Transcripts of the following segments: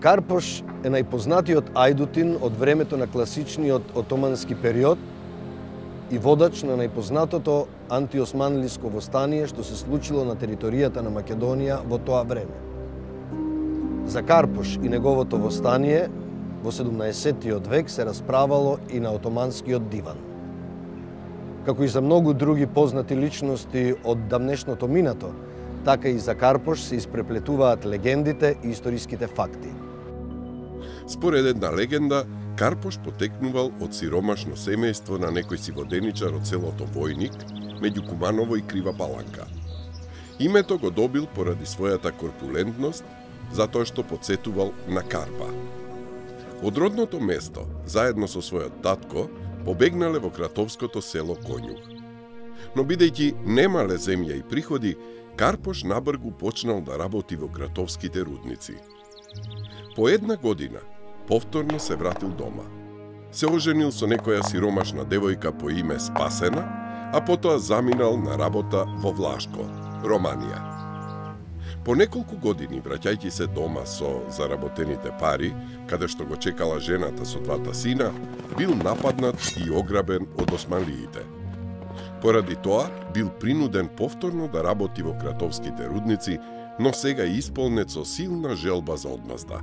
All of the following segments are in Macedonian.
Карпош е најпознатиот ајдутин од времето на класичниот отомански период и водач на најпознатото антиосманлиско востание што се случило на територијата на Македонија во тоа време. За Карпош и неговото востание во 17-тиот век се расправало и на отоманскиот диван. Како и за многу други познати личности од давнешното минато, така и за Карпош се испреплетуваат легендите и историските факти. Според една легенда, Карпош потекнувал од сиромашно семејство на некој си воденичар од селото Војник, меѓу Куманово и Крива Паланка. Името го добил поради својата корпулентност, затоа што потсетувал на карпа. Од родното место, заедно со својот татко, побегнале во кратовското село Конјух. Но бидејќи немале земја и приходи, Карпош набргу почнал да работи во кратовските рудници. По една година, повторно се вратил дома. Се оженил со некоја сиромашна девојка по име Спасена, а потоа заминал на работа во Влашко, Романија. По неколку години, враќајќи се дома со заработените пари, каде што го чекала жената со двата сина, бил нападнат и ограбен од османлиите. Поради тоа, бил принуден повторно да работи во кратовските рудници, но сега исполнет со силна желба за одмазда.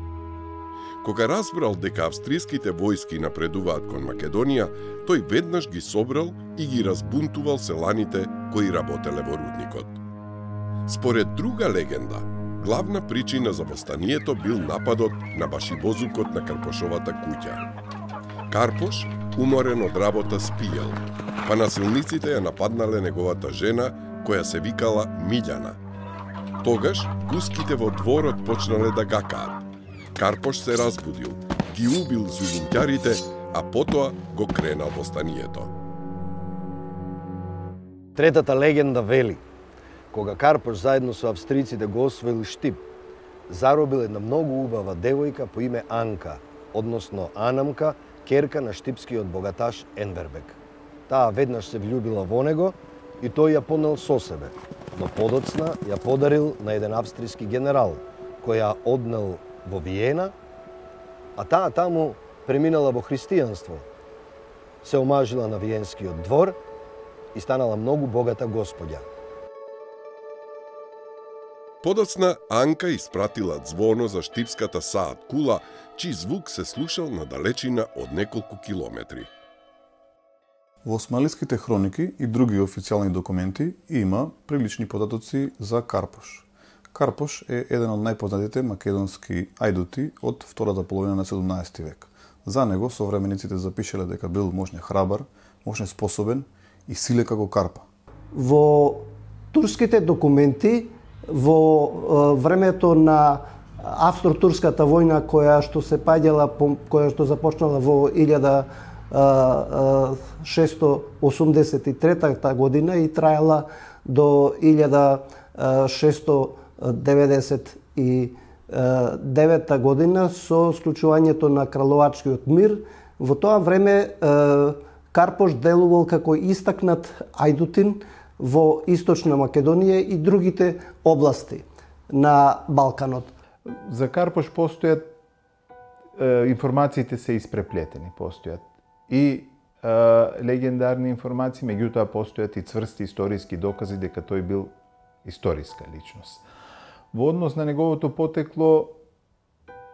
Кога разбрал дека австриските војски напредуваат кон Македонија, тој веднаш ги собрал и ги разбунтувал селаните кои работеле во рудникот. Според друга легенда, главна причина за востанието бил нападот на башибозукот на Карпошовата куќа. Карпош, уморен од работа, спиел, па насилниците ја нападнале неговата жена, која се викала Милјана. Тогаш, гуските во дворот почнале да гакаат. Карпош се разбудил, ги убил зулумќарите, а потоа го кренал востанието. Третата легенда вели, кога Карпош заедно со австриците го освоил Штип, заробил една многу убава девојка по име Анка, односно Анамка, керка на штипскиот богаташ Енвербек. Таа веднаш се влюбила во него и тој ја понел со себе, но подоцна ја подарил на еден австријски генерал, кој ја однел во Виена, а таа таму преминала во христијанство, се омажила на виенскиот двор и станала многу богата господја. Подоцна Анка испратила ѕвоно за штипската саат кула, чиј звук се слушал на далечина од неколку километри. Во османлиските хроники и други официјални документи има прилични податоци за Карпош. Карпош е еден од најпознатите македонски ајдути од втората половина на 17 век. За него современиците запишале дека бил можне храбар, можне способен и силен како карпа. Во турските документи во времето на Австро-турската војна која што се паѓала, која што започнала во 1683 година и траела до 1699 година со склучувањето на Краловачкиот мир. Во тоа време Карпош делувал како истакнат ајдутин во Источна Македонија и другите области на Балканот. За Карпош постојат, информациите се испреплетени, постојат и легендарни информации, меѓутоа постојат и цврсти историски докази дека тој бил историска личност. Во однос на неговото потекло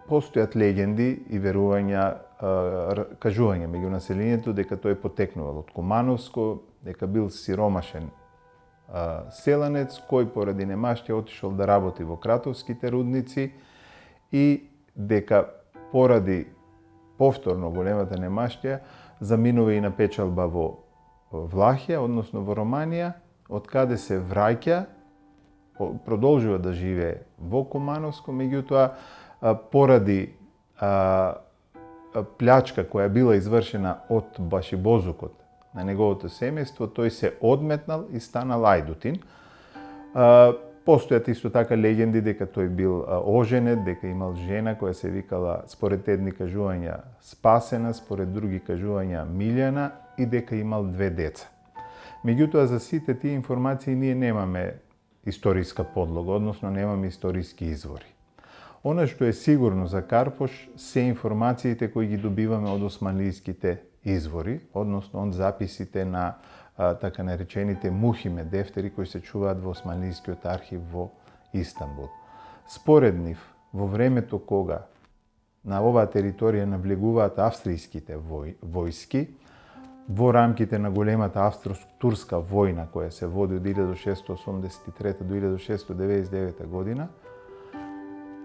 постојат легенди и верувања, кажувања меѓу населението дека тој потекнувал од Кумановско, дека бил сиромашен селанец кој поради немаштија отишол да работи во кратовските рудници и дека поради повторно големата немаштија заминува и на печалба во Влахија, односно во Романија, од каде се враќа, продолжува да живее во Кумановско, меѓутоа поради плячка која била извршена од башибозукот на неговото семејство, тој се одметнал и станал ајдутин. Постојат исто така легенди дека тој бил оженет, дека имал жена која се викала, според едни кажувања, Спасена, според други кажувања, Милјана, и дека имал 2 деца. Меѓутоа, за сите тие информации ние немаме историска подлога, односно немаме историски извори. Она што е сигурно за Карпош се информациите кои ги добиваме од османлиските извори, односно од записите на така наречените мухиме дефтери кои се чуваат во османлискиот архив во Истанбул. Според нив, во времето кога на оваа територија навлегуваат австријските војски, во рамките на големата австро-турска војна која се води од 1683 до 1699 година,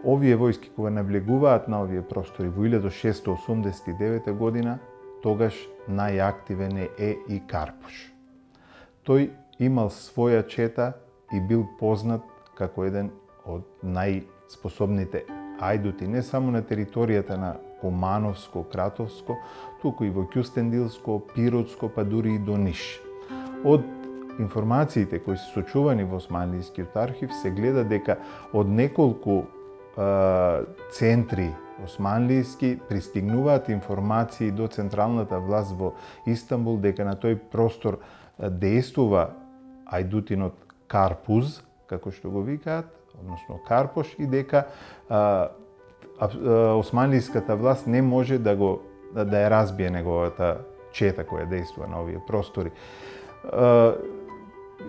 овие војски кога навлегуваат на овие простори во 1689 година, тогаш најактивен е и Карпош. Тој имал своја чета и бил познат како еден од најспособните ајдути, не само на територијата на Кумановско, Кратовско, туку и во Кюстендилско, Пиротско, па дури и до Ниш. Од информациите кои се сочувани во османлискиот архив се гледа дека од неколку центри османлиски пристигнуваат информации до централната власт во Истанбул дека на тој простор действува ајдутинот Карпуз, како што го викаат, односно Карпош, и дека османлиската власт не може да ја разбие неговата чета која действува на овие простори.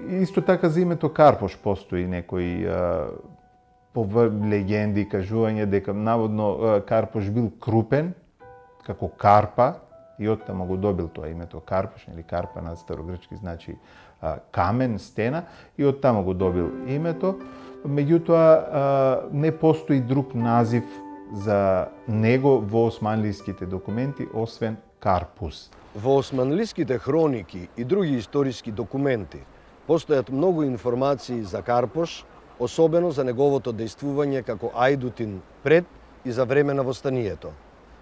Исто така за името Карпош постои некои легенди, кажување дека наводно Карпош бил крупен, како карпа, и оттаму го добил тоа името Карпош, или карпа на старогрчки значи камен, стена, и оттаму го добил името. Меѓутоа, не постои друг назив за него во османлиските документи, освен Карпус. Во османлиските хроники и други историски документи постојат многу информации за Карпош, особено за неговото дејствување како ајдутин пред и за време на востанието.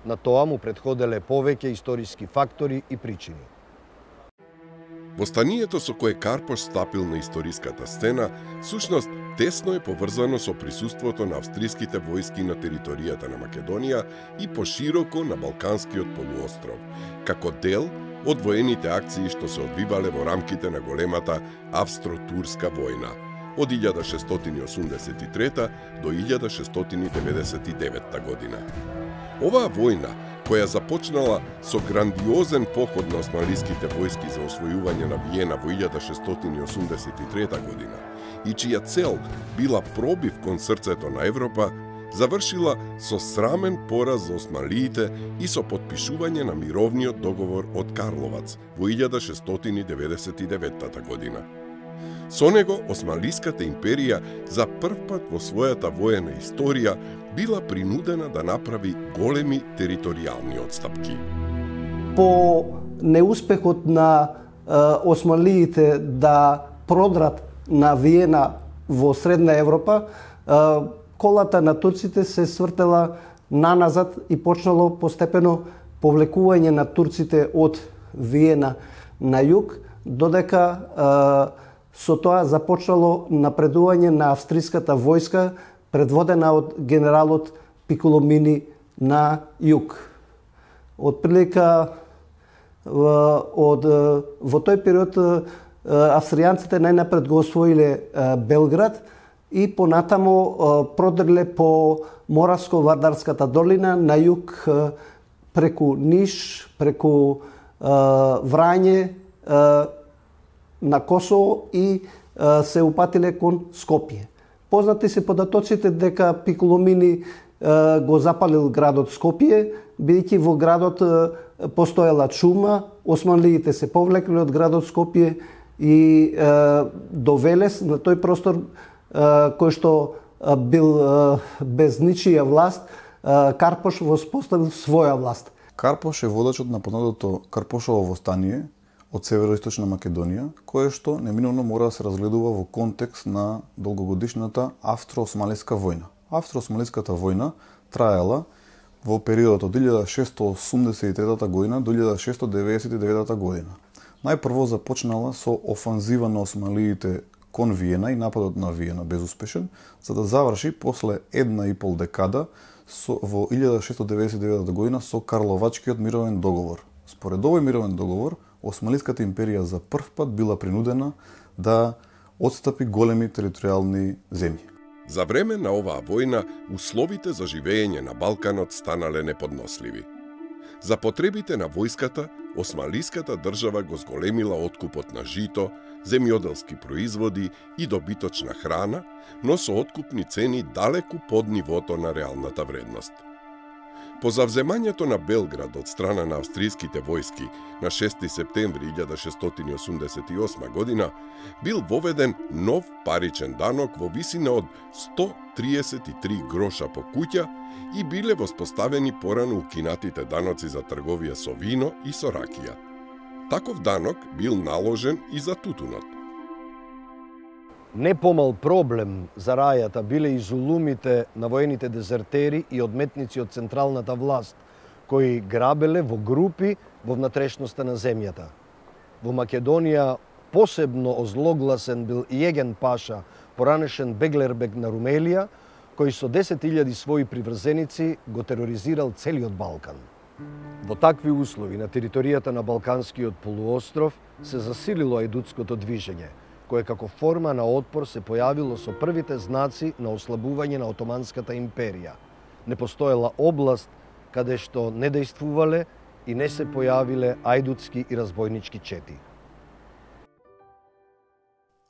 На тоа му претходеле повеќе историски фактори и причини. Востанието со кое Карпош стапил на историската сцена, всушност тесно е поврзано со присуството на австриските војски на територијата на Македонија и пошироко на Балканскиот полуостров, како дел од воените акции што се одвивале во рамките на големата австро-турска војна од 1683 до 1699 година. Оваа војна, која започнала со грандиозен поход на османлиските војски за освојување на Виена во 1683 година и чија цел била пробив кон срцето на Европа, завршила со срамен пораз за османлиите и со потпишување на мировниот договор од Карловац во 1699 година. Со него Османлиската империја за првпат во својата воена историја била принудена да направи големи територијални отстапки. По неуспехот на османлиите да продрат на Виена во Средна Европа, колата на турците се свртела наназад и почнало постепено повлекување на турците од Виена на југ, додека со тоа започнало напредување на австриската војска, предводена од генералот Пиколомини на југ. Отприлика во тој период австријанците најнапред го освоиле Белград и понатамо продреле по Моравско-Вардарската долина на југ преку Ниш, преку Врање, на Косово и се упатиле кон Скопје. Познати се податоците дека Пиколомини го запалил градот Скопје, бидејќи во градот постоела чума, османлиите се повлекле од градот Скопје и до Велес, на тој простор кој што бил без ничија власт, Карпош воспоставил своја власт. Карпош е водачот на познатото Карпошово востание од североисточна Македонија, кое што неминовно мора да се разгледува во контекст на долгогодишната Австро-османлиска војна. Австро-османлиската војна траела во периодот од 1683 година до 1699 година. Најпрво започнала со офанзива на османлиите кон Виена и нападот на Виена безуспешен, за да заврши после 1,5 декада во 1699 година со Карловачкиот мировен договор. Според овој мировен договор, Османлиската империја за прв пат била принудена да отстапи големи територијални земји. За време на оваа војна, условите за живење на Балканот станале неподносливи. За потребите на војската, османлиската држава го зголемила откупот на жито, земјоделски производи и добиточна храна, но со откупни цени далеку под нивото на реалната вредност. По завземањето на Белград од страна на австријските војски на 6 септември 1688 година, бил воведен нов паричен данок во висина од 133 гроша по куќа и биле воспоставени порано укинатите даноци за трговија со вино и со ракија. Таков данок бил наложен и за тутунот. Не помал проблем за рајата биле и зулумите на воените дезертери и одметници од централната власт, кои грабеле во групи во внатрешноста на земјата. Во Македонија посебно озлогласен бил Јеген Паша, поранешен Беглербег на Румелија, кој со 10.000 своји приврзеници го тероризирал целиот Балкан. Во такви услови на територијата на Балканскиот полуостров се засилило ајдутското движење, кое како форма на отпор се појавило со првите знаци на ослабување на Отоманската империја. Не постоела област каде што не дејствувале и не се појавиле ајдутски и разбойнички чети.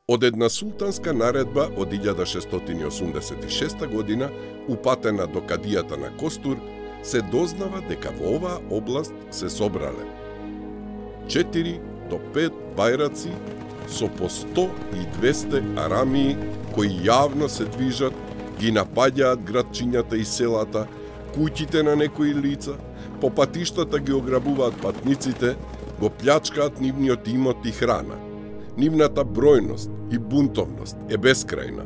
Од една султанска наредба од 1686 година, упатена до кадијата на Костур, се дознава дека во оваа област се собрале 4 до 5 бајраци со по 100 и 200 арамии кои јавно се движат, ги напаѓаат градчињата и селата, куќите на некои лица, по патиштата ги ограбуваат патниците, го плјачкаат нивниот имот и храна. Нивната бројност и бунтовност е бескрајна.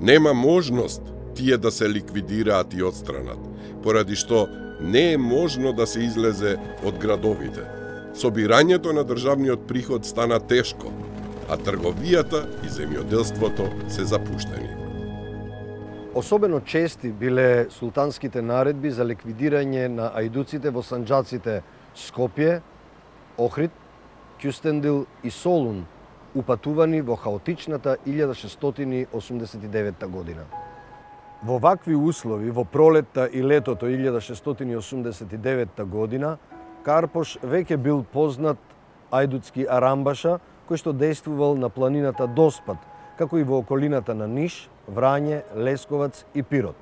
Нема можност тие да се ликвидираат и отстранат, поради што не е можно да се излезе од градовите. Собирањето на државниот приход стана тешко, а трговијата и земјоделството се запуштени. Особено чести биле султанските наредби за ликвидирање на ајдуците во санџаците Скопје, Охрид, Кюстендил и Солун, упатувани во хаотичната 1689 година. Во вакви услови, во пролетта и летото 1689 година, Карпош веќе бил познат ајдутски арамбаша, кој што дејствувал на планината Доспат, како и во околината на Ниш, Врање, Лесковац и Пирот.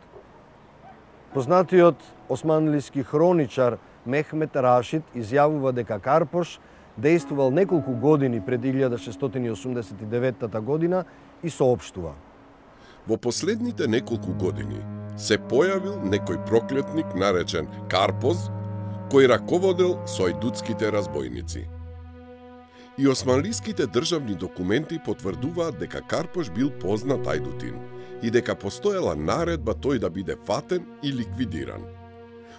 Познатиот османлиски хроничар Мехмет Рашид изјавува дека Карпош дејствувал неколку години пред 1689 година и соопштува: Во последните неколку години се појавил некој проклетник наречен Карпоз, кој раководел со ајдутските разбойници. И османлиските државни документи потврдуваат дека Карпош бил познат ајдутин и дека постоела наредба тој да биде фатен и ликвидиран.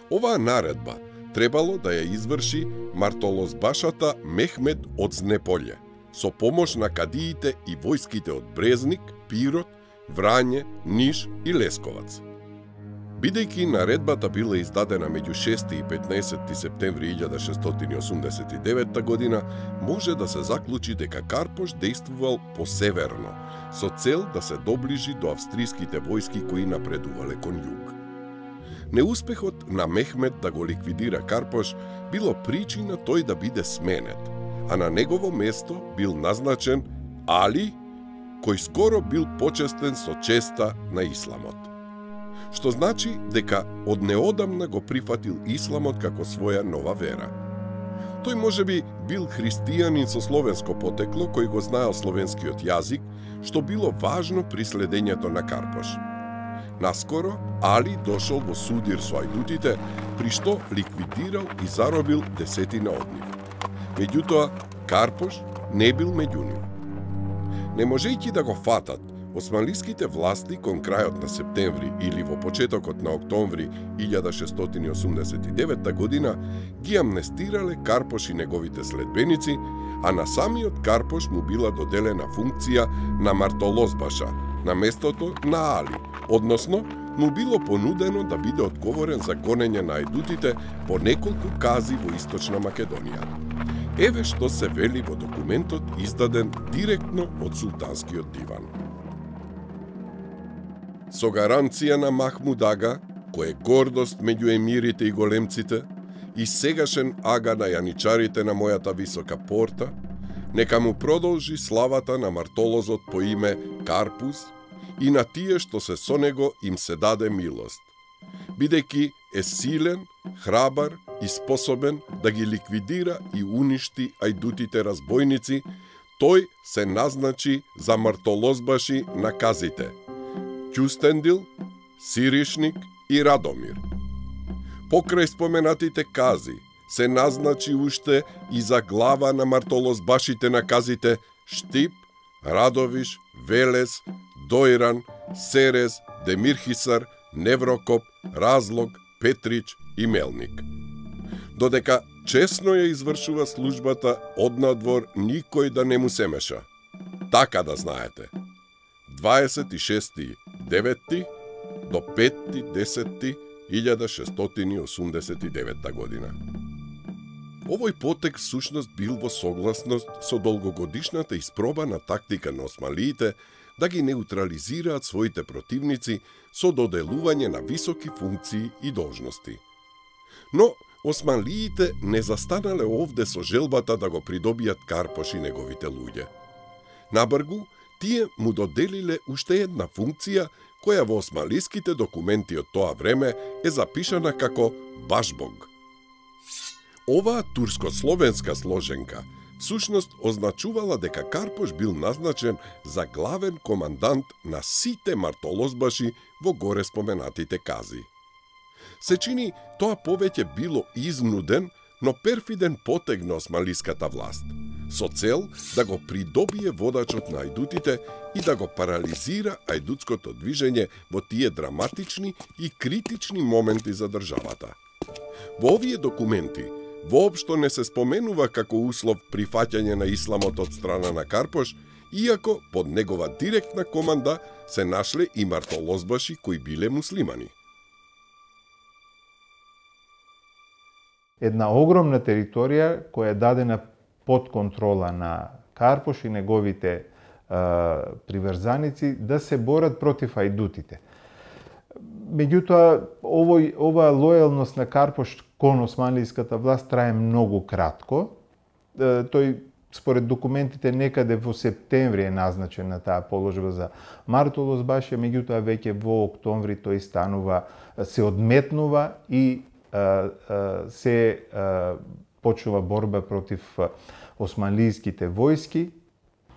Оваа наредба требало да ја изврши мартолозбашата Мехмед од Знеполје, со помош на кадиите и војските од Брезник, Пирот, Врање, Ниш и Лесковац. Бидејќи наредбата била издадена меѓу 6 и 15 септември 1689 година, може да се заклучи дека Карпош дејствувал посеверно, со цел да се доближи до австриските војски кои напредувале кон југ. Неуспехот на Мехмед да го ликвидира Карпош било причина тој да биде сменет, а на негово место бил назначен Али, кој скоро бил почестен со честа на исламот. Што значи дека од неодамна го прифатил исламот како своја нова вера. Тој можеби бил христијанин со словенско потекло кој го знаел словенскиот јазик, што било важно при следењето на Карпош. Наскоро Али дошол во судир со ајдутите, при што ликвидирал и заробил десетина од нив. Меѓутоа, Карпош не бил меѓу нив. Не можејќи да го фатат, османлиските власти кон крајот на септември или во почетокот на октомври 1689 година ги амнестирале Карпош и неговите следбеници, а на самиот Карпош му била доделена функција на мартолозбаша на местото на Али, односно му било понудено да биде одговорен за гонење на ајдутите по неколку кази во Источна Македонија. Еве што се вели во документот издаден директно од султанскиот диван. Со гаранција на Махмуд Ага, кој е гордост меѓу емирите и големците, и сегашен ага на јаничарите на мојата висока порта, нека му продолжи славата на мартолозот по име Карпус и на тие што се со него им се даде милост, бидејќи е силен, храбар и способен да ги ликвидира и уништи ајдутите разбойници, тој се назначи за мартолозбаши на казите Ќустендил, Сиришник и Радомир. Покрај споменатите кази, се назначи уште и за глава на мартолозбашите на казите Штип, Радовиш, Велес, Дојран, Серез, Демирхисар, Неврокоп, Разлог, Петрич и Мелник. Додека чесно ја извршува службата однадвор никој да не му се меша. Така да знаете. 26.9. до 5.10.1689 година. Овој потек всушност бил во согласност со долгогодишната испробана тактика на осмалиите да ги неутрализираат своите противници со доделување на високи функции и должности. Но осмалиите не застанале овде со желбата да го придобијат Карпош и неговите луѓе. Набргу, тие му доделиле уште една функција која во осмалиските документи од тоа време е запишана како Башбог. Оваа турско-словенска сложенка всушност означувала дека Карпош бил назначен за главен командант на сите мартолозбаши во горе споменатите кази. Се чини тоа повеќе било изнуден, но перфиден потег на осмалиската власт, со цел да го придобие водачот на ајдутите и да го парализира ајдутското движење во тие драматични и критични моменти за државата. Во овие документи воопшто не се споменува како услов прифаќање на исламот од страна на Карпош, иако под негова директна команда се нашле и мартолозбаши кои биле муслимани. Една огромна територија која е дадена под контрола на Карпош и неговите приврзаници да се борат против ајдутите. Меѓутоа, оваа лојалност на Карпош кон османлиската власт трае многу кратко. Тој, според документите, некаде во септември е назначен на таа положба за мартолозбашија, меѓутоа веќе во октомври тој станува, се одметнува и се почнува борба против османлиските војски.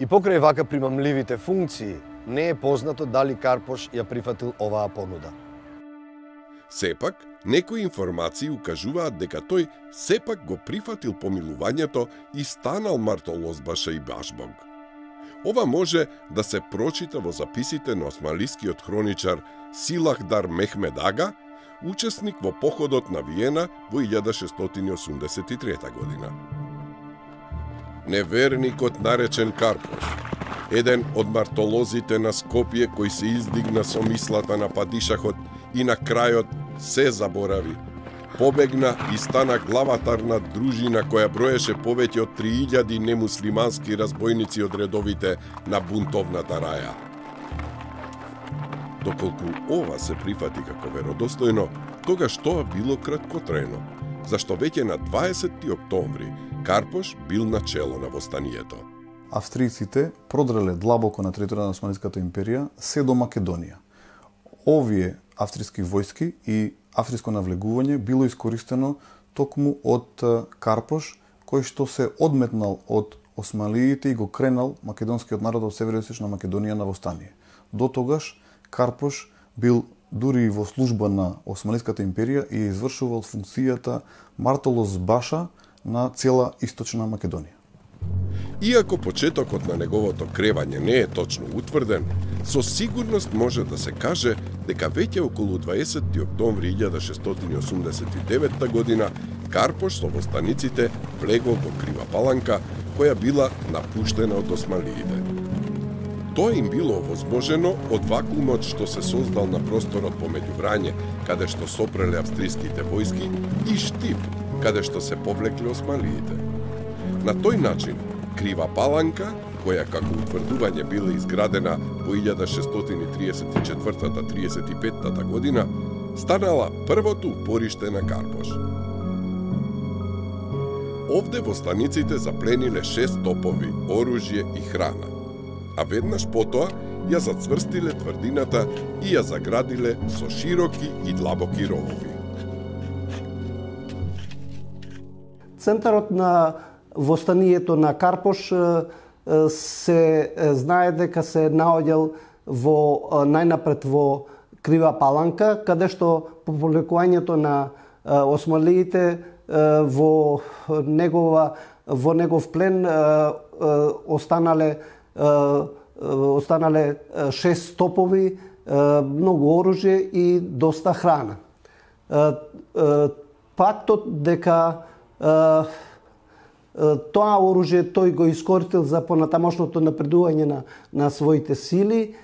И покрај вака примамливите функции, не е познато дали Карпош ја прифатил оваа понуда. Сепак, некои информации укажуваат дека тој сепак го прифатил помилувањето и станал мартолозбаша и башбог. Ова може да се прочита во записите на османлискиот хроничар Силахдар Мехмед Ага, учесник во походот на Виена во 1683 година. Неверникот наречен Карпош, еден од мартолозите на Скопје кој се издигна со мислата на падишахот и на крајот се заборави. Побегна и стана главатар на дружина која броеше повеќе од 3000 немуслимански разбойници од редовите на бунтовната раја. Доколку ова се прифати како веродостојно, тогаш тоа било краткотрајно, зашто веќе на 20. октомври Карпош бил начело на востанието. Австријците продреле длабоко на територија на Османската империја се до Македонија. Овие австријски војски и австриско навлегување било искористено токму од Карпош, кој што се одметнал од осмалиите и го кренал македонскиот народ од североисточна Македонија на востание. До тогаш Карпош бил дури и во служба на Османската империја и извршувал функцијата мартолозбаша на цела источна Македонија. Иако почетокот на неговото кревање не е точно утврден, со сигурност може да се каже дека веќе околу 20. октомври 1689 година Карпош со востаниците влегол во Крива Паланка, која била напуштена од осмалиите. Тоа им било овозможено од вакуумот што се создал на просторот помеѓу Врање, каде што сопреле австриските војски, и Штип, каде што се повлекле осмалиите. На тој начин, Крива Паланка која како утврдување била изградена во 1634-35 година, станала првото упориште на Карпош. Овде во станиците заплениле 6 топови, оружје и храна, а веднаш потоа ја зацврстиле тврдината и ја заградиле со широки и длабоки ровови. Центарот на востанието на Карпош се знае дека се наоѓал најнапред во Крива Паланка, каде што по повлекувањето на османлиите во негов плен останале 6 топови, многу оружје и доста храна. Фактот дека тоа оружје тој го искористил за понатамошното напредување на своите сили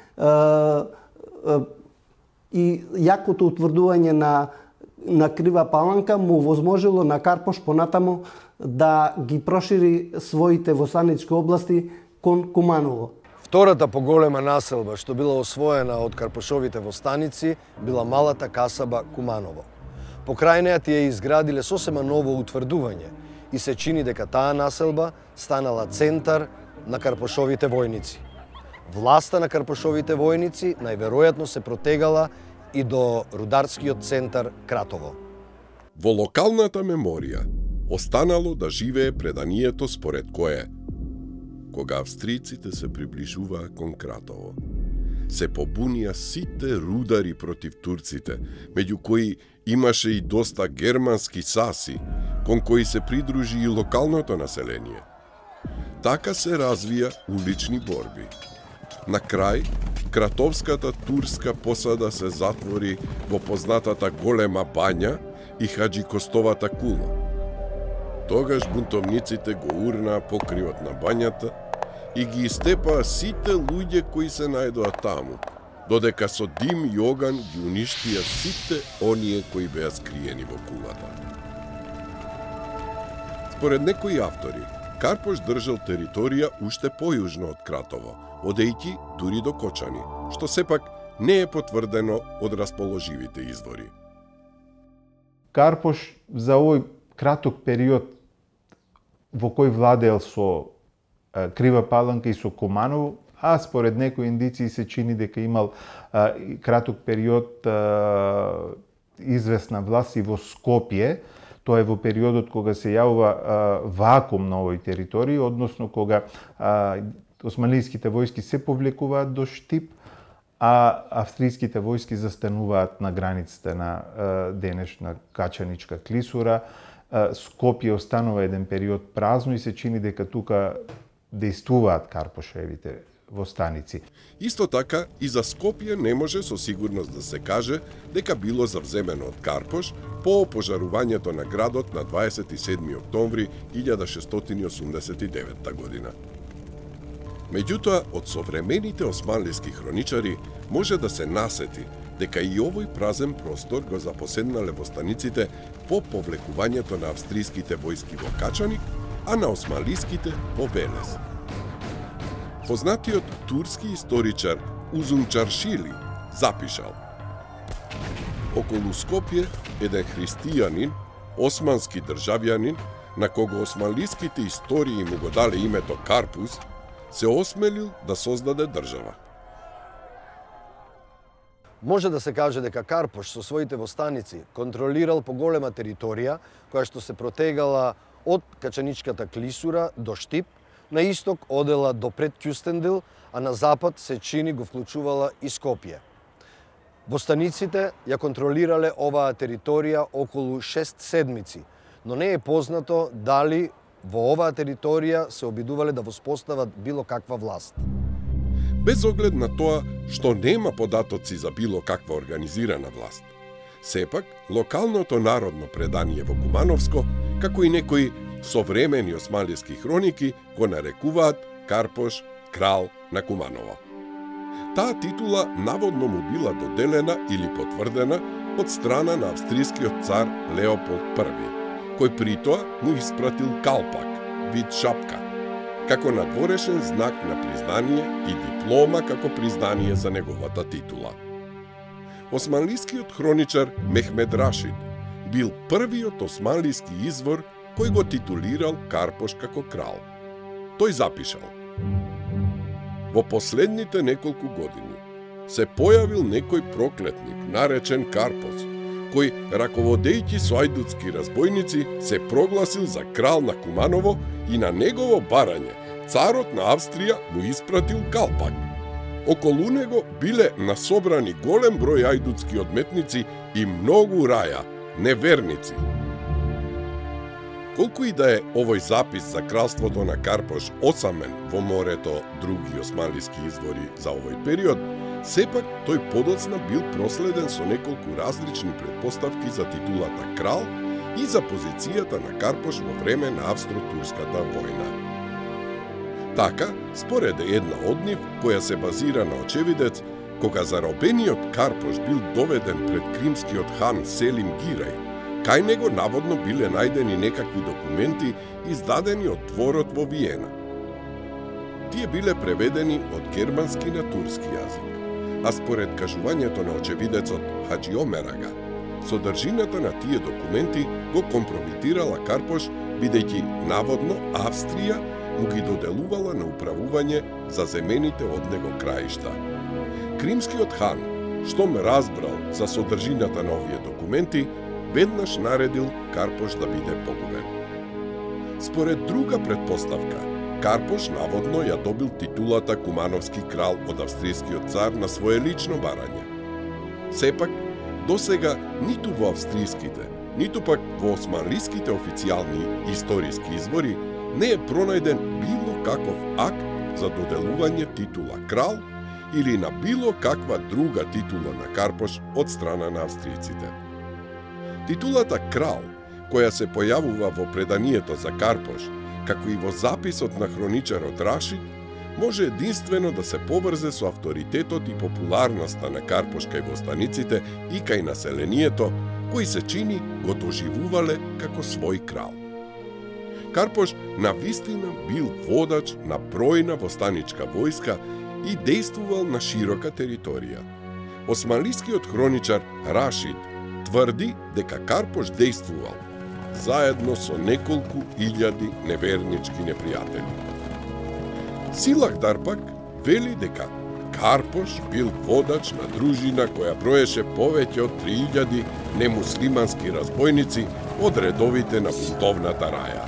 и јакото утврдување на Крива Паланка му возможило на Карпош понатаму да ги прошири своите востанички области кон Куманово. Втората поголема населба што била освоена од карпошовите востаници била малата касаба Куманово. Покрај неа тие изградиле сосема ново утврдување и се чини дека таа населба станала центар на карпошовите војници. Власта на карпошовите војници најверојатно се протегала и до рударскиот центар Кратово. Во локалната меморија останало да живее преданието според кое, кога австриците се приближуваа кон Кратово, се побунија сите рудари против турците, меѓу кои имаше и доста германски саси, кон кои се придружи и локалното население. Така се развија улични борби. На крај, кратовската турска посада се затвори во познатата голема бања и Хаджи Костовата кула. Тогаш бунтовниците го урнаа покривот на бањата и ги истепаа сите луѓе кои се најдоа таму, додека со дим и оган ги уништија сите оние кои беа скриени во кулата. Според некои автори, Карпош држал територија уште појужно од Кратово, одејќи дури до Кочани, што сепак не е потврдено од расположивите извори. Карпош за овој краток период во кој владеел со Крива Паланка и со Куманово, а според некои индиции се чини дека имал краток период известна власт и во Скопје. Тоа е во периодот кога се јавува вакуум на овој територија, односно кога османлиските војски се повлекуваат до Штип, а австриските војски застануваат на границите на денешна Качаничка клисура. Скопје останува еден период празно и се чини дека тука дејствуваат Карпошевите востаници. Исто така, и за Скопје не може со сигурност да се каже дека било завземено од Карпош по опожарувањето на градот на 27. октомври 1689 година. Меѓутоа, од современите османлиски хроничари може да се насети дека и овој празен простор го запоседнале востаниците по повлекувањето на австриските војски во Качаник, а на османлиските во Велес. Познатиот турски историчар Узун Чаршили запишал: околу Скопје еден христијанин, османски државјанин, на кого османлиските истории му го дале името Карпус, се осмелил да создаде држава. Може да се каже дека Карпош со своите востаници контролирал поголема територија која што се протегала од Качаничката клисура до Штип, на исток одела до пред Кюстендил, а на запад се чини го вклучувала и Скопје. Востаниците ја контролирале оваа територија околу 6 седмици, но не е познато дали во оваа територија се обидувале да воспостават било каква власт. Без оглед на тоа што нема податоци за било каква организирана власт, сепак локалното народно предание во Кумановско, како и некои современи османлиски хроники, го нарекуваат Карпош крал на Куманово. Таа титула наводно му била доделена или потврдена од страна на австрискиот цар Леополд I, кој при тоа му испратил калпак, вид шапка, како надворешен знак на признание и диплома како признание за неговата титула. Османлискиот хроничар Мехмед Рашид бил првиот османлиски извор кој го титулирал Карпош како крал. Тој запишал: во последните неколку години се појавил некој проклетник наречен Карпош, кој, раководејќи со ајдутски разбойници, се прогласил за крал на Куманово и на негово барање царот на Австрија му испратил калпак. Околу него биле насобрани голем број ајдутски одметници и многу раја, неверници. Колку и да е овој запис за кралството на Карпош осамен во морето други османлиски извори за овој период, сепак тој подоцна бил проследен со неколку различни претпоставки за титулата крал и за позицијата на Карпош во време на Австро-Турската војна. Така, според една од нив, која се базира на очевидец, кога заробениот Карпош бил доведен пред кримскиот хан Селим Гирај, кај него наводно биле најдени некакви документи издадени од дворот во Виена. Тие биле преведени од германски на турски јазик, а според кажувањето на очевидецот Хаджи Омерага, содржината на тие документи го компрометирала Карпош, бидејќи наводно Австрија му ги доделувала на управување за земените од него краишта. Кримскиот хан, штом разбрал за содржината на овие документи, веднаш наредил Карпош да биде погубен. Според друга предпоставка, Карпош наводно ја добил титулата Кумановски крал од австријскиот цар на свое лично барање. Сепак, досега ниту во австријските, ниту пак во османлиските официјални историски извори не е пронајден било каков акт за доделување титула крал или на било каква друга титула на Карпош од страна на австријците. Титулата крал, која се појавува во преданието за Карпош, како и во записот на хроничарот Рашид, може единствено да се поврзе со авторитетот и популарноста на Карпош кај востаниците и кај населението, кои се чини го доживувале како свој крал. Карпош навистина бил водач на бројна востаничка војска и действувал на широка територија. Османлискиот хроничар Рашид тврди дека Карпош действувал заедно со неколку илјади невернички непријатели. Силахдар пак вели дека Карпош бил водач на дружина која броеше повеќе од 3000 немуслимански разбойници од редовите на бунтовната раја.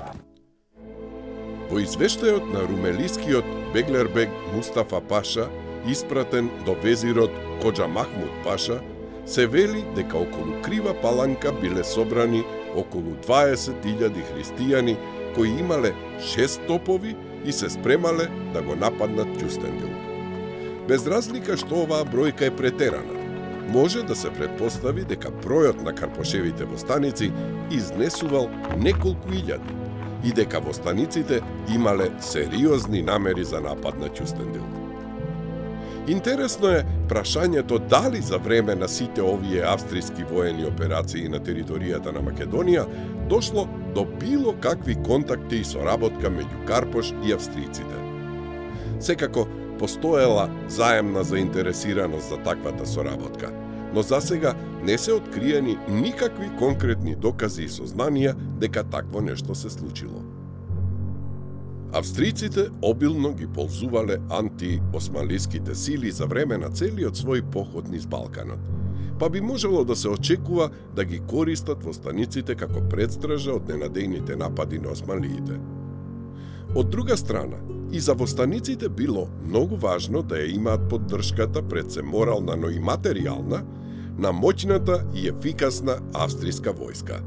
Во извештајот на румелискиот Беглербег Мустафа Паша, испратен до везирот Коджа Махмуд Паша, се вели дека околу Крива Паланка биле собрани околу 20.000 христијани кои имале 6 топови и се спремале да го нападнат Ќустендил. Без разлика што оваа бројка е претерана, може да се претпостави дека бројот на Карпошевите востаници изнесувал неколку илјади и дека востаниците имале сериозни намери за напад на Ќустендил. Интересно е прашањето дали за време на сите овие австријски воени операции на територијата на Македонија дошло до било какви контакти и соработка меѓу Карпош и австријците. Секако постоела заемна заинтересираност за таквата соработка, но засега не се откриени никакви конкретни докази и сознанија дека такво нешто се случило. Австријците обилно ги ползувале антиосманлиските сили за време на целиот свој поход низ Балканот, па би можело да се очекува да ги користат востаниците како предстража од ненадејните напади на османлиите. Од друга страна, и за востаниците било многу важно да ја имаат поддршката пред се морална, но и материјална, на моќната и ефикасна австријска војска.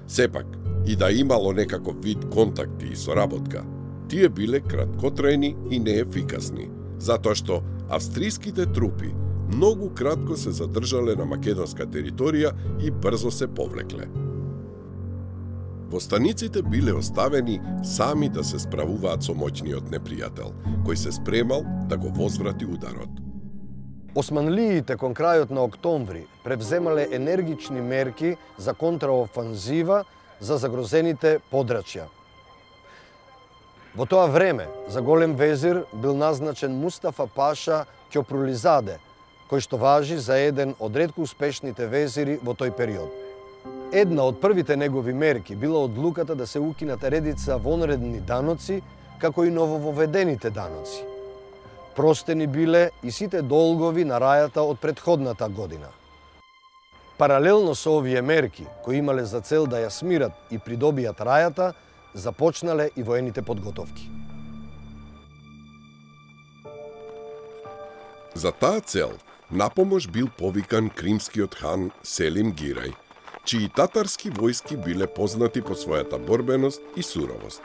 Сепак, и да имало некаков вид контакти и соработка, тие биле краткотрајни и неефикасни, затоа што австријските трупи многу кратко се задржале на македонска територија и брзо се повлекле. Востаниците биле оставени сами да се справуваат со моќниот непријател, кој се спремал да го возврати ударот. Османлиите кон крајот на октомври превземале енергични мерки за контраофанзива за загрозените подрачја. Во тоа време за голем везир бил назначен Мустафа Паша Ќопрулизаде, кој што важи за еден од ретко успешните везири во тој период. Една од првите негови мерки била одлуката да се укинат редица вонредни даноци, како и новововедените даноци. Простени биле и сите долгови на рајата од претходната година. Паралелно со овие мерки, кои имале за цел да ја смират и придобијат рајата, започнале и воените подготовки. За таа цел напомош бил повикан кримскиот хан Селим Гирај, чии татарски војски биле познати по својата борбеност и суровост.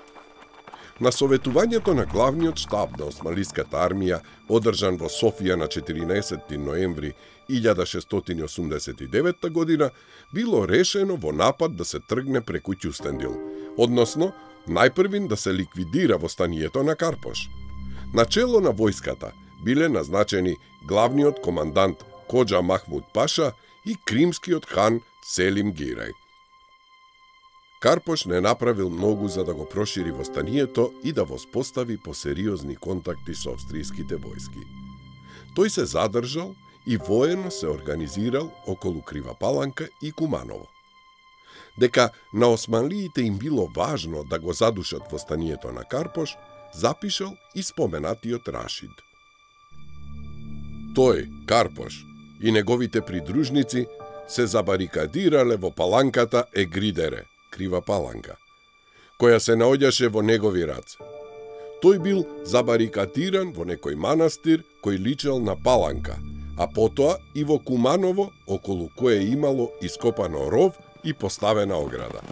На советувањето на главниот штаб на Османлиската армија, одржан во Софија на 14 ноември 1689 година, било решено во напад да се тргне преку Ќустендил, односно, најпрвин да се ликвидира востанието на Карпош. Начело на војската биле назначени главниот командант Коџа Махмуд Паша и кримскиот хан Селим Гирај. Карпош не направил многу за да го прошири востанието и да воспостави посериозни контакти со австријските војски. Тој се задржал и воено се организирал околу Крива Паланка и Куманово. Дека на османлиите им било важно да го задушат востанието на Карпош, запишал и споменатиот Рашид. Тој, Карпош, и неговите придружници се забарикадирале во паланката Егридере, Крива Паланка, која се наоѓаше во негови раце. Тој бил забарикадиран во некој манастир кој личел на паланка, а потоа и во Куманово, околу кое имало ископано ров и поставена ограда.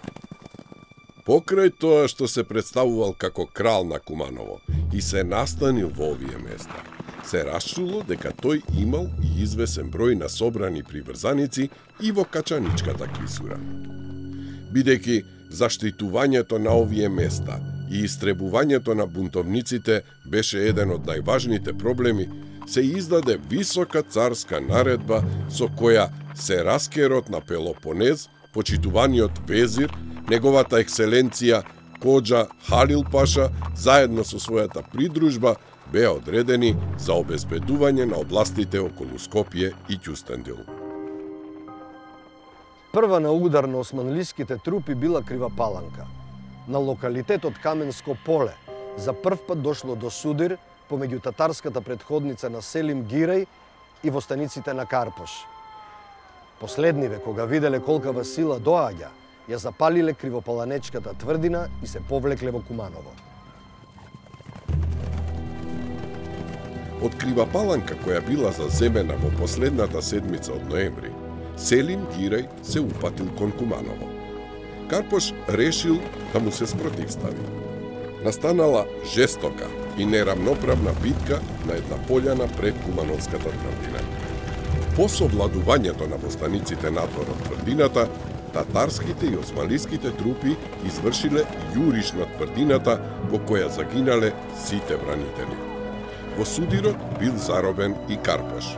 Покрај тоа што се представувал како крал на Куманово и се настанил во овие места, се расчуло дека тој имал и извесен број на собрани приврзаници и во Качаничката клисура. Бидејќи заштитувањето на овие места и истребувањето на бунтовниците беше еден од најважните проблеми, се издаде висока царска наредба со која се раскерот на Пелопонез, почитуваниот везир, неговата екселенција Коџа Халил Паша, заедно со својата придружба, беа одредени за обезбедување на областите околу Скопје и Ќустендил. Прва на удар на османлиските трупи била Крива Паланка. На локалитетот Каменско поле за прв пат дошло до судир помеѓу татарската претходница на Селим Гирај и востаниците на Карпош. Последниве, кога виделе колкава сила доаѓа, ја запалиле Кривопаланечката тврдина и се повлекле во Куманово. Од Крива Паланка, која била заземена во последната седмица од ноември, Селим Гирај се упатил кон Куманово. Карпош решил да му се спротивстави. Настанала жестока и неравноправна битка на една пољана пред Кумановската тврдина. По совладувањето на востаниците надвор од тврдината, татарските и османлиските трупи извршиле јуриш на тврдината во која загинале сите бранители. Во судирот бил заробен и Карпош.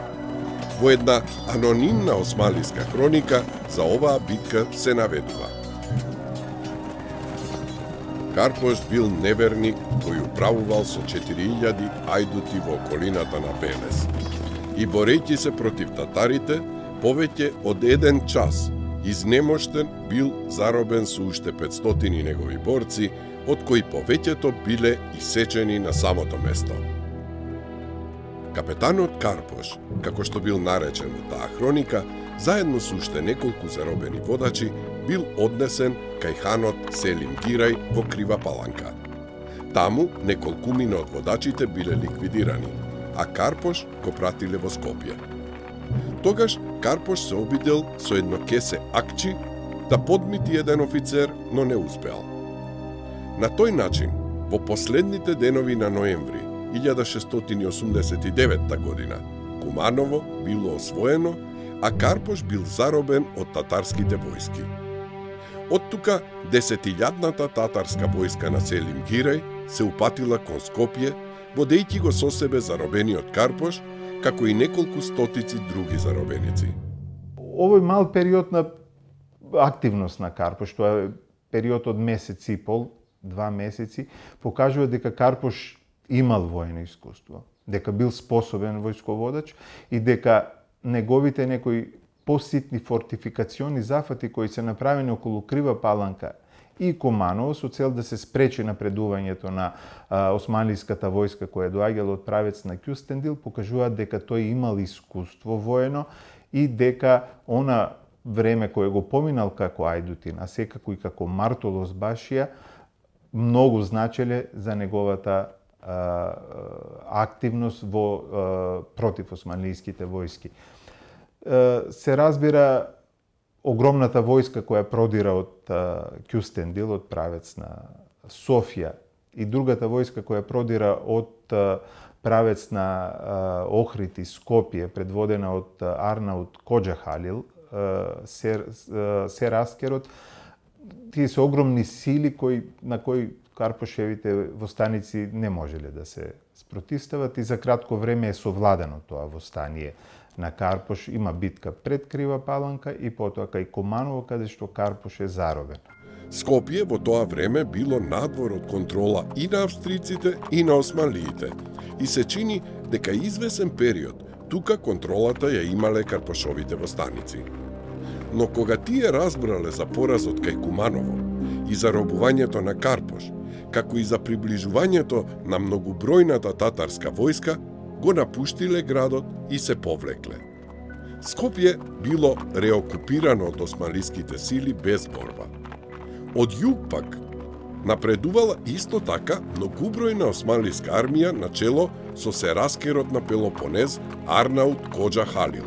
Во една анонимна османлиска хроника за оваа битка се наведува: Карпош бил неверник кој управувал со 4000 ајдути во околината на Велес и борејќи се против татарите, повеќе од 1 час изнемоштен бил заробен со уште 500 негови борци, од кои повеќето биле исечени на самото место. Капетанот Карпош, како што бил наречен во таа хроника, заедно со уште неколку заробени водачи, бил однесен кај ханот Селим Гирај во Крива Паланка. Таму неколкумина од водачите биле ликвидирани, а Карпош го пратиле во Скопје. Тогаш Карпош се обидел со едно кесе акчи да подмити еден офицер, но не успеал. На тој начин, во последните денови на ноември 1689 година, Куманово било освоено, а Карпош бил заробен од татарските војски. Од тука 10.000-ната татарска војска на Селим Гирај се упатила кон Скопје, водејќи го со себе заробениот Карпош, како и неколку стотици други заробеници. Овој мал период на активност на Карпош, тоа е период од месец и пол, 2 месеци, покажува дека Карпош имал воено искуство, дека бил способен војсководач и дека неговите некои поситни фортификациони зафати кои се направени околу Крива Паланка и Куманово со цел да се спречи напредувањето на османлиската војска која доаѓала од правец на Кюстендил, покажуваат дека тој имал искуство воено и дека она време кое го поминал како Ајдутин, а секако и како Мартолос Башија, многу значеле за неговата активност во против османлиските војски. Се разбира огромната војска која продира од Кюстендил, од правец на Софија, и другата војска која продира од правец на Охрид и Скопје, предводена од Арнаут Коџа Халил, Сераскерот, тие се огромни сили на кои Карпошевите востаници не можеле да се спротивстават и за кратко време е совладено тоа востание на Карпош. Има битка пред Крива Паланка и потоа кај Куманово, каде што Карпош е заробен. Скопје во тоа време било надвор од контрола и на австриците и на османлиите и се чини дека извесен период тука контролата ја имале Карпошовите востаници. Но кога тие разбрале за поразот кај Куманово и заробувањето на Карпош, како и за приближувањето на многобројната татарска војска, го напуштиле градот и се повлекле. Скопје било реокупирано од османлиските сили без борба. Од југ пак напредувала исто така многубројна османлиска армија на чело со Сераскерот на Пелопонез Арнаут Коџа Халил.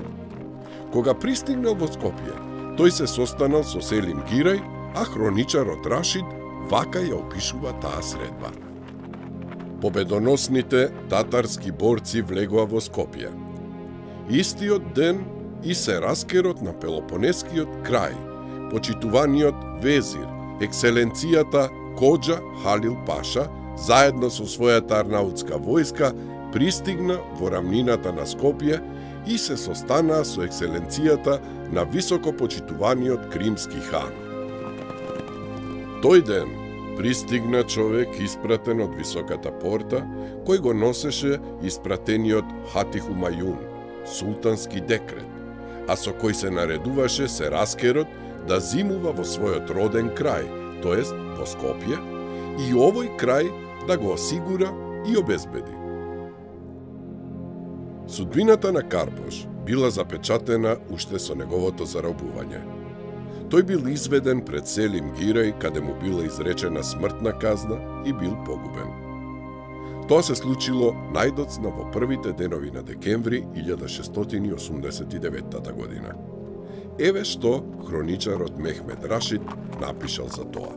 Кога пристигнал во Скопје, тој се состанал со Селим Гирај, а хроничарот Рашид вака ја опишува таа средба. Победоносните татарски борци влегоа во Скопје. Истиот ден и Сераскерот на Пелопонескиот крај, почитуваниот везир, екселенцијата Коџа Халил Паша, заедно со својата арнаутска војска, пристигна во рамнината на Скопје и се состанаа со екселенцијата на високо почитуваниот кримски хан. Тој ден пристигна човек испратен од високата порта, кој го носеше испратениот Хати Хумајун, султански декрет, а со кој се наредуваше Сераскерот да зимува во својот роден крај, тоест во Скопје, и овој крај да го осигура и обезбеди. Судбината на Карпош била запечатена уште со неговото заробување. Тој бил изведен пред Селим Гирај, каде му била изречена смртна казна и бил погубен. Тоа се случило најдоцна во првите денови на декември 1689 година. Еве што хроничарот Мехмед Рашид напишал за тоа.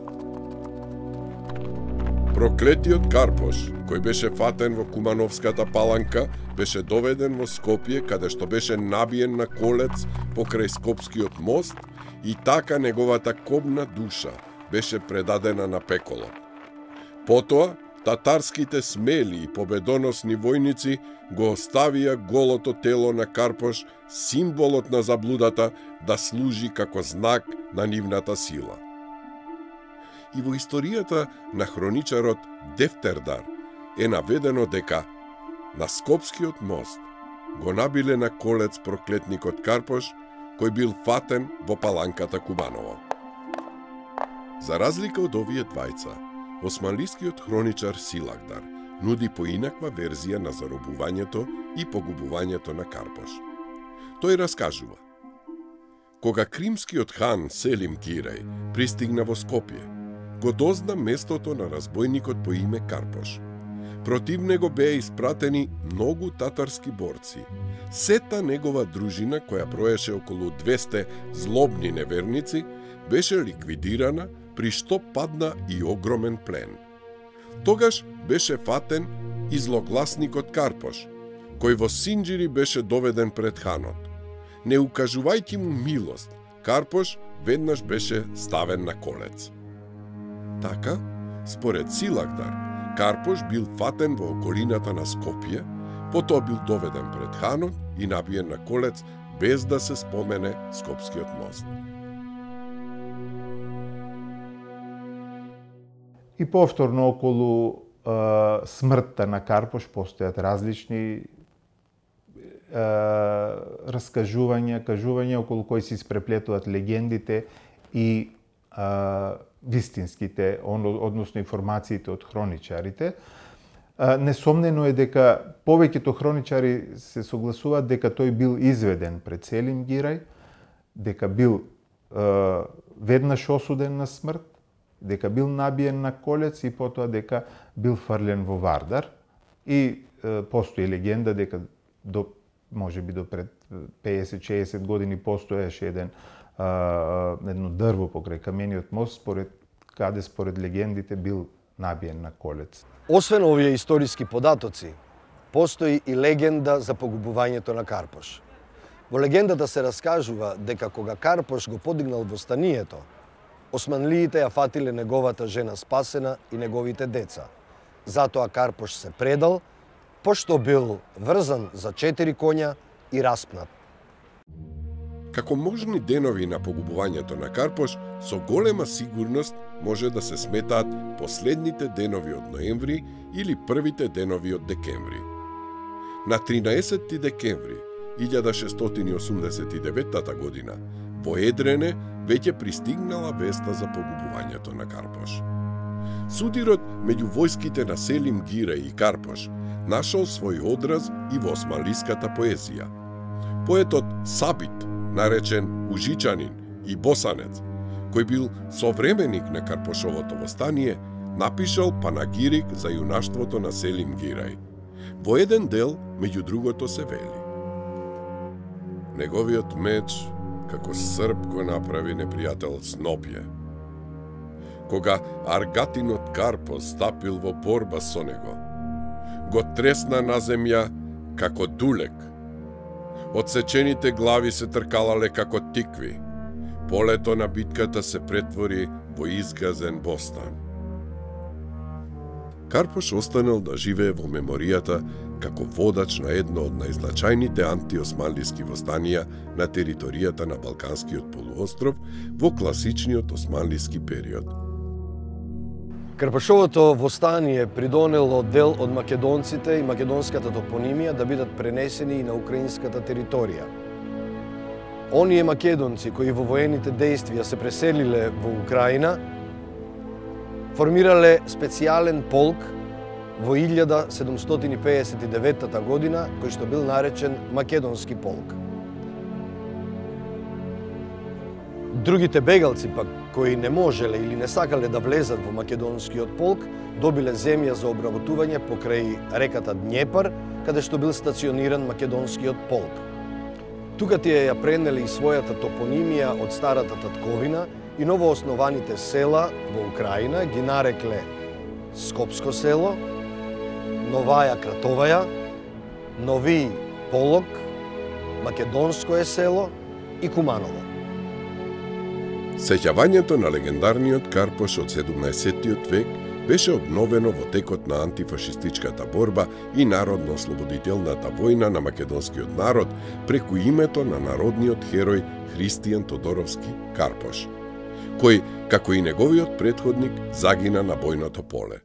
Проклетиот Карпош, кој беше фатен во Кумановската Паланка, беше доведен во Скопје, каде што беше набиен на колец покрај Скопскиот мост и така неговата кобна душа беше предадена на пеколо. Потоа, татарските смели и победоносни војници го оставија голото тело на Карпош, символот на заблудата, да служи како знак на нивната сила. И во историјата на хроничарот Дефтердар е наведено дека на Скопскиот мост го набиле на колец проклетникот Карпош, кој бил фатен во Паланката Куманово. За разлика од овие двајца, османлискиот хроничар Силахдар нуди поинаква верзија на заробувањето и погубувањето на Карпош. Тој раскажува: кога кримскиот хан Селим Гирај пристигна во Скопје, го дозна местото на разбојникот по име Карпош. Против него беа испратени многу татарски борци. Сета негова дружина, која броеше околу 200 злобни неверници, беше ликвидирана, при што падна и огромен плен. Тогаш беше фатен и злогласникот Карпош, кој во Синџири беше доведен пред ханот. Не укажувајќи му милост, Карпош веднаш беше ставен на колец. Така, според Силахдар, Карпош бил фатен во околината на Скопје, потоа бил доведен пред ханот и набиен на колец без да се спомене Скопскиот мост. И повторно околу смртта на Карпош постојат различни кажувања околу кои се испреплетуваат легендите и вистинските, односно информациите од хроничарите. Несомнено е дека повеќето хроничари се согласуваат дека тој бил изведен пред Селим Гирај, дека бил веднаш осуден на смрт, дека бил набиен на колец и потоа дека бил фрлен во Вардар. И постои легенда дека можеби до пред 50-60 години постоеше едно дрво покрај камениот мост, според легендите бил набиен на колец. Освен овие историски податоци, постои и легенда за погубувањето на Карпош. Во легендата се раскажува дека кога Карпош го подигнал востанието, османлиите ја фатиле неговата жена спасена и неговите деца. Затоа Карпош се предал, пошто бил врзан за 4 коња и распнат. Како можни денови на погубувањето на Карпош, со голема сигурност може да се сметаат последните денови од ноември или првите денови од декември. На 13 декември 1689 година во Едрене веќе пристигнала веста за погубувањето на Карпош. Судирот меѓу војските на Селим Гирај и Карпош нашол свој одраз и во османлиската поезија. Поетот Сабит, наречен Ужичанин и Босанец, кој бил современик на Карпошовото востание, напишал панагирик за јунаштвото на Селим Гирај. Во еден дел, меѓу другото, се вели: неговиот меч, како срп го направи непријател Снопје. Кога аргатинот Карпос стапил во борба со него, го тресна на земја како дулек. Одсечените глави се тркалале како тикви. Полето на битката се претвори во изгазен бостан. Карпош останал да живее во меморијата како водач на едно од најзначајните антиосманлиски востанија на територијата на Балканскиот полуостров во класичниот османлиски период. Карпошовото востание придонело дел од македонците и македонската топонимија да бидат пренесени и на украинската територија. Оние македонци кои во воените дејствија се преселиле во Украина, формирале специјален полк во 1759 година, кој што бил наречен Македонски полк. Другите бегалци пак, кои не можеле или не сакале да влезат во Македонскиот полк, добиле земја за обработување покрај реката Днепар, каде што бил стациониран Македонскиот полк. Тука тие ја пренели и својата топонимија од старата татковина и новооснованите села во Украина ги нарекле Скопско село, Новаја Кратоваја, Нови Полок, Македонско е село и Куманово. Сеќавањето на легендарниот Карпош од 17 век беше обновено во текот на антифашистичката борба и народно-ослободителната војна на македонскиот народ преку името на народниот херој Христијан Тодоровски Карпош, кој, како и неговиот претходник, загина на бојното поле.